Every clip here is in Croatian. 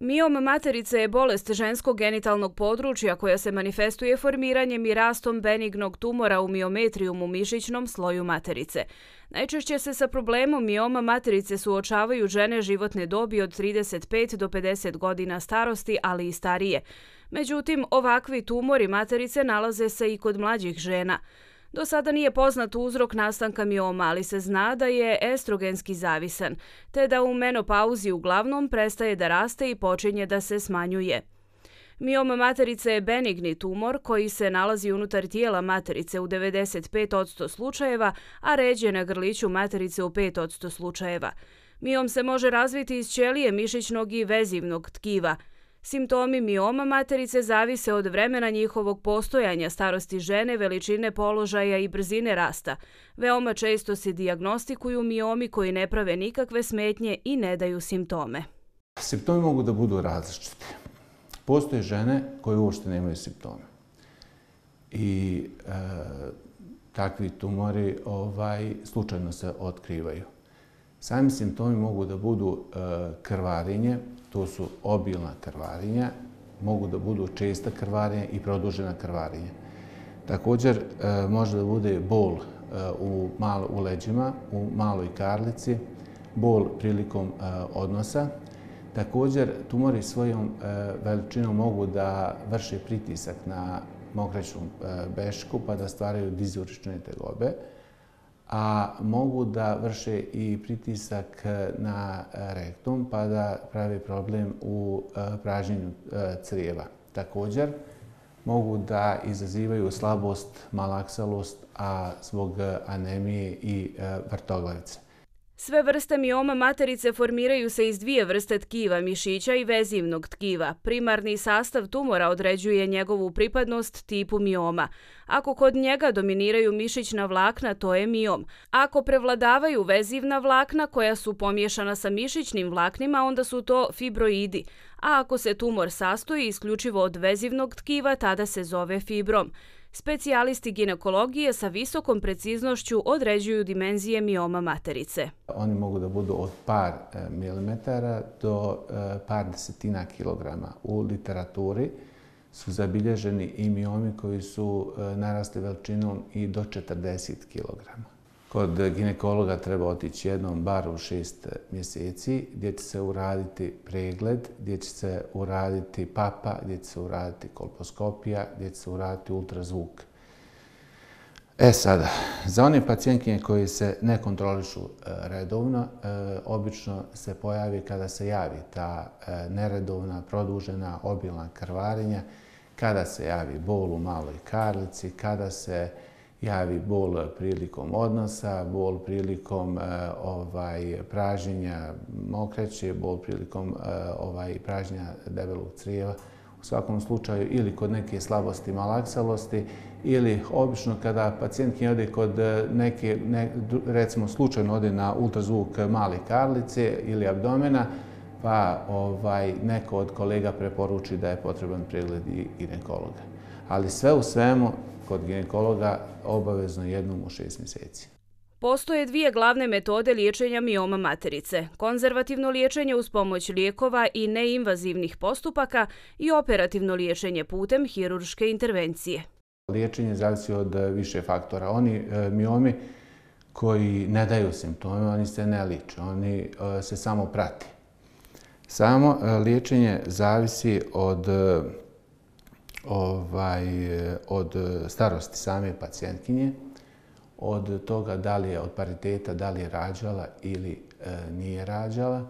Miom materice je bolest ženskog genitalnog područja koja se manifestuje formiranjem i rastom benignog tumora u miometrijumu mišićnom sloju materice. Najčešće se sa problemom mioma materice suočavaju žene životne dobi od 35 do 50 godina starosti, ali i starije. Međutim, ovakvi tumori materice nalaze se i kod mlađih žena. Do sada nije poznat uzrok nastanka mioma, ali se zna da je estrogenski zavisan, te da u menopauzi uglavnom prestaje da raste i počinje da se smanjuje. Miom materice je benigni tumor koji se nalazi unutar tijela materice u 95% slučajeva, a ređe na grliću materice u 5% slučajeva. Miom se može razviti iz ćelije mišićnog i vezivnog tkiva. Simptomi mioma materice zavise od vremena njihovog postojanja, starosti žene, veličine položaja i brzine rasta. Veoma često se dijagnostikuju miomi koji ne prave nikakve smetnje i ne daju simptome. Simptomi mogu da budu različiti. Postoje žene koje uopšte nemaju simptome. I takvi tumori slučajno se otkrivaju. Sami simptomi mogu da budu krvarenje, to su obilna krvarenja, mogu da budu česta krvarenja i produžena krvarenja. Također može da bude bol u leđima, u maloj karlici, bol prilikom odnosa. Također tumori svojom veličinom mogu da vrše pritisak na mokraćnu bešku pa da stvaraju dizurične tegobe, a mogu da vrše i pritisak na rektum pa da pravi problem u pražnjenju crijeva. Također mogu da izazivaju slabost, malaksalost, a zbog anemije i vrtoglavice. Sve vrste mioma materice formiraju se iz dvije vrste tkiva, mišića i vezivnog tkiva. Primarni sastav tumora određuje njegovu pripadnost tipu mioma. Ako kod njega dominiraju mišićna vlakna, to je miom. Ako prevladavaju vezivna vlakna koja su pomiješana sa mišićnim vlaknima, onda su to fibroidi. A ako se tumor sastoji isključivo od vezivnog tkiva, tada se zove fibrom. Specijalisti ginekologije sa visokom preciznošću određuju dimenzije mioma materice. Oni mogu da budu od par milimetara do par desetina kilograma. U literaturi su zabilježeni i miomi koji su narasli veličinom i do 40 kilograma. Kod ginekologa treba otići jednom bar u 6 mjeseci gdje će se uraditi pregled, gdje će se uraditi papa, gdje će se uraditi kolposkopija, gdje će se uraditi ultrazvuk. Sada, za one pacijentkinje koji se ne kontrolišu redovno, obično se pojavi kada se javi ta neredovna, produžena, obilna krvarenja, kada se javi bol u maloj karlici, kada se javi bol prilikom odnosa, bol prilikom pražnjenja mokraće, bol prilikom pražnjenja debelog crijeva. U svakom slučaju ili kod neke slabosti, malaksalosti ili obično kada pacijentkinja ode kod neke, recimo slučajno ode na ultrazvuk male karlice ili abdomena, pa neko od kolega preporuči da je potreban pregled i ginekologa. Ali sve u svemu, kod ginekologa obavezno jednom u 6 mjeseci. Postoje dvije glavne metode liječenja mioma materice. Konzervativno liječenje uz pomoć lijekova i neinvazivnih postupaka i operativno liječenje putem hirurške intervencije. Liječenje zavisi od više faktora. Oni miomi koji ne daju simptome, oni se ne liče, oni se samo prati. Samo liječenje zavisi od starosti same pacijentkinje, od toga da li je od pariteta, da li je rađala ili nije rađala,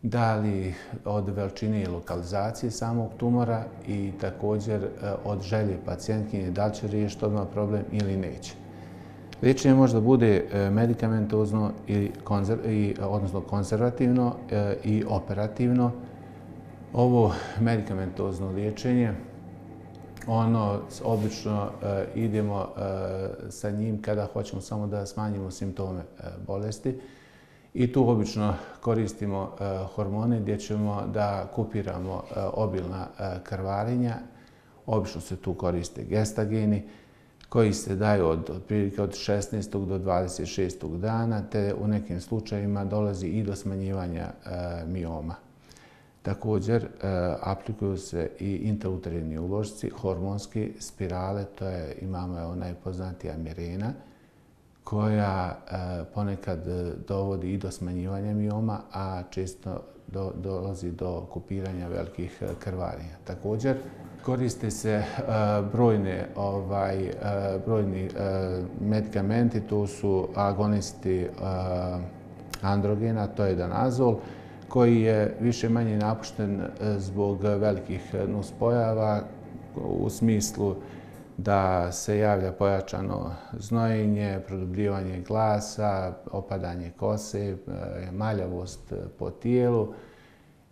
da li od veličine i lokalizacije samog tumora i također od želje pacijentkinje da li će riješiti odmah problem ili neće. Liječenje može da bude medikamentozno, odnosno konzervativno i operativno. Ovo medikamentozno liječenje, obično idemo sa njim kada hoćemo samo da smanjimo simptome bolesti i tu obično koristimo hormone gdje ćemo da kupiramo obilna krvarenja. Obično se tu koriste gestageni koji se daju otprilike od 16. do 26. dana, te u nekim slučajevima dolazi i do smanjivanja mioma. Također, aplikuju se i intrauterinni uložci, hormonski, spirale, imamo najpoznatija Mirena, koja ponekad dovodi i do smanjivanja mioma, a često dolazi do kupiranja velikih krvarenja. Također, koriste se brojni medikamenti, to su agonisti androgena, to je danazol, koji je više manje napušten zbog velikih nuspojava u smislu da se javlja pojačano znojenje, produbljivanje glasa, opadanje kose, maljavost po tijelu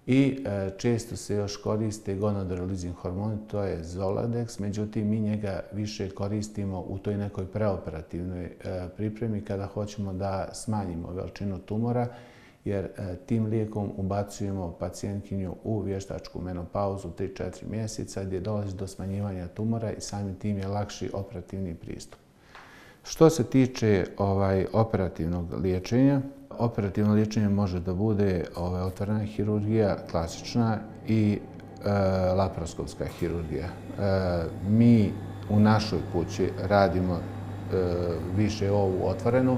i često se još koriste gonadotropin hormoni, to je Zoladex, međutim mi njega više koristimo u toj nekoj preoperativnoj pripremi kada hoćemo da smanjimo veličinu tumora, jer tim lijekom ubacujemo pacijentkinju u vještačku menopauzu 3-4 mjeseca gdje dolazi do smanjivanja tumora i samim tim je lakši operativni pristup. Što se tiče operativnog liječenja, operativno liječenje može da bude otvorena hirurgija, klasična i laparoskopska hirurgija. Mi u našoj kući radimo više ovu otvorenu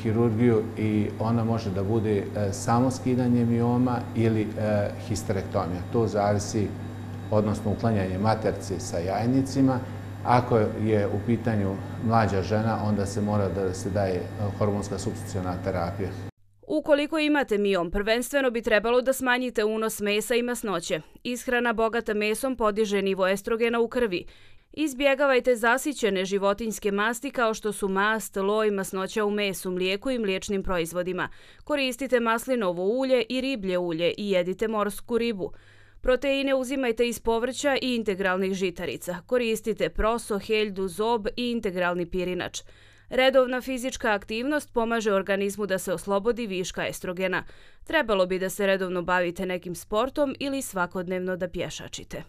hirurgiju i ona može da bude samo skidanje mioma ili histerektomija. To zavisi, odnosno uklanjanje maternice sa jajnicima. Ako je u pitanju mlađa žena, onda se mora da se daje hormonska supstituciona terapija. Ukoliko imate miom, prvenstveno bi trebalo da smanjite unos mesa i masnoće. Ishrana bogata mesom podiže nivo estrogena u krvi. Izbjegavajte zasićene životinjske masti kao što su mast, loj, masnoća u mesu, mlijeku i mliječnim proizvodima. Koristite maslinovo ulje i riblje ulje i jedite morsku ribu. Proteine uzimajte iz povrća i integralnih žitarica. Koristite proso, heljdu, zob i integralni pirinač. Redovna fizička aktivnost pomaže organizmu da se oslobodi viška estrogena. Trebalo bi da se redovno bavite nekim sportom ili svakodnevno da pješačite.